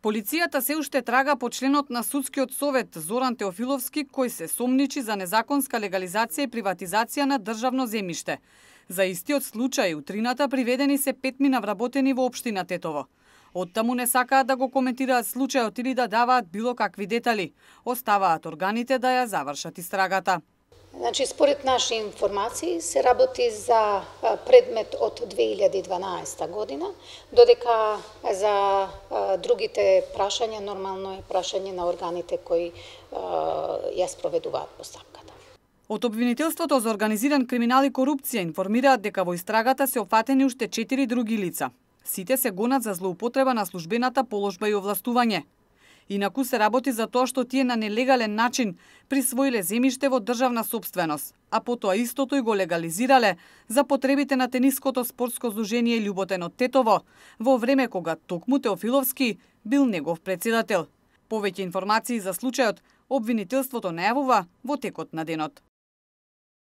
Полицијата се уште трага по членот на судскиот совет Зоран Теофиловски, кој се сомничи за незаконска легализација и приватизација на државно земјиште. За истиот случај утрината приведени се 5 вработени во општина Тетово. Оттаму не сакаат да го коментираат случајот или да даваат било какви детали. Оставаат органите да ја завршат истрагата. Значи, според наши информации се работи за предмет од 2012 година, додека за другите прашања нормално е прашање на органите кои ја спроведуваат постапката. Од обвинителството за организиран криминал и корупција информираат дека во истрагата се опфатени уште 4 други лица. Сите се гонат за злоупотреба на службената положба и овластување. Инаку се работи за тоа што тие на нелегален начин присвоиле земјиште во државна сопственост, а потоа истото и го легализирале за потребите на тениското спортско здружение Љуботен од Тетово, во време кога токму Теофиловски бил негов претседател. Повеќе информации за случајот обвинителството најавува во текот на денот.